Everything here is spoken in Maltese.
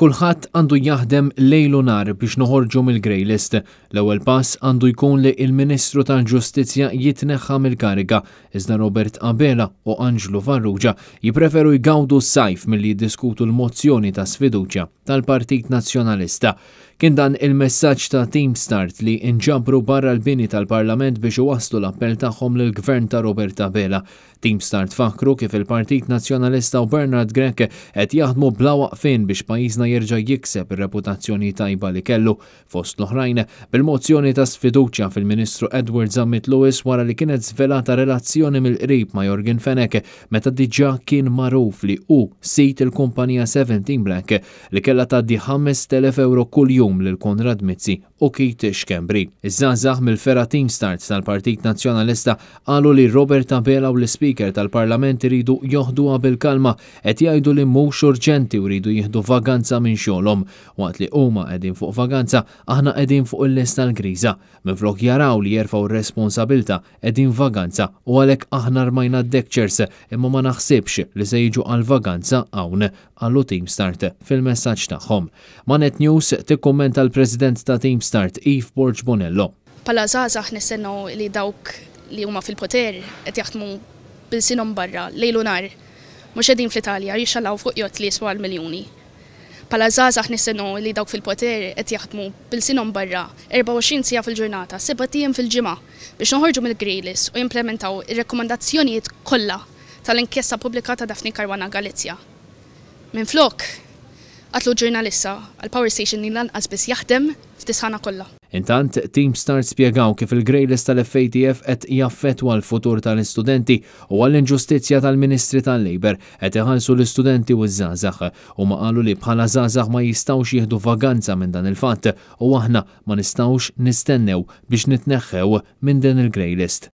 Kulħadd għandu jaħdem lejl u nhar biex noħorġu mill-grey list. L-ewwel pass għandu jkun li l-Ministru tal-Ġustizzja jitneħħa mill-kariga, iżda Robert Abela u Anġlu Farrugia jippreferu jgawdu s-sajf milli jiddiskutu l-mozzjoni ta' sfiduċja tal-Partit Nazzjonalista. Kien dan il-messaġġ ta' Team Start li nġabru barra l-bini tal-Parlament biex iwasslu l-appell tagħhom lill-Gvern ta' Robert Abela. Team Start fakkru kif il-Partit Nazzjonalista u Bernard Grech qed jaħdmu bla waqfien biex pajjiżna jerġa' jikseb ir-reputazzjoni tajba li kellu, fost l-oħrajn, bil-mozzjoni ta' sfiduċja fil-Ministru Edward Zammit Lewis wara li kienet żvelata relazzjoni mill-qrib ma' Yorgen Fenech meta diġà kien magħruf li hu sid il-kumpanija Seventeen Black li kellha tgħaddi 5,000 ewro kuljum lil Konrad Mizzi u Keith Schembri. Iż-żgħażagħ mill-fergħa Team Start tal-Partit Nazzjonalista qalu li Robert Abela u l-Ispeaker tal-Parlament iridu joħduha bil-kalma, qed jgħidu li mhux urġenti u jridu jieħdu vaganza minn xogħolhom. Waqt li huma qegħdin fuq vaganza, aħna qegħdin fuq il-lista l-griża. Minflok jaraw li jerfgħu r-responsabilità qegħdin vaganza u għalhekk aħna rmajna d-deckchairs imma ma naħsibx li se jiġu għal vaganza hawn, qalu Team Start fil-messaġġ tagħhom. Ma' Net News tikkummenta l-President ta' Team Start Eve Borg Bonello. Bħala żgħażagħ nistennew li dawk li huma fil-poter qed jaħdmu b'ilsienhom barra lejl u nhar. Mhux qegħdin fl-Italja jixxalaw fuq jott li jiswa l-miljuni. Bħala żgħażagħ nistennew li dawk fil-poter qed jaħdmu b'ilsienhom barra 24 siegħa fil-ġurnata, sebat ijiem fil-ġimgħa biex noħorġu mill-grey list u jimplementaw ir-rakkomandazzjonijiet kollha tal-inkjesta pubblika ta' Daphne Caruana Galizia. Minflok, qatlu ġurnalista għal power station li lanqas biss jaħdem f'dis-sħana kollha. Intant, Team Start spjegaw kif il-grey list tal-FATF qed jaffettwa l-futur tal-istudenti u għall-inġustizzja tal-Ministri tal-Labour qed iħallsu l-istudenti u ż-żgħażagħ. Huma qalu li bħala żgħażagħ ma jistgħux jieħdu vaganza minn dan il-fatt u aħna ma nistgħux nistennew biex nitneħħew minn din il-grey list.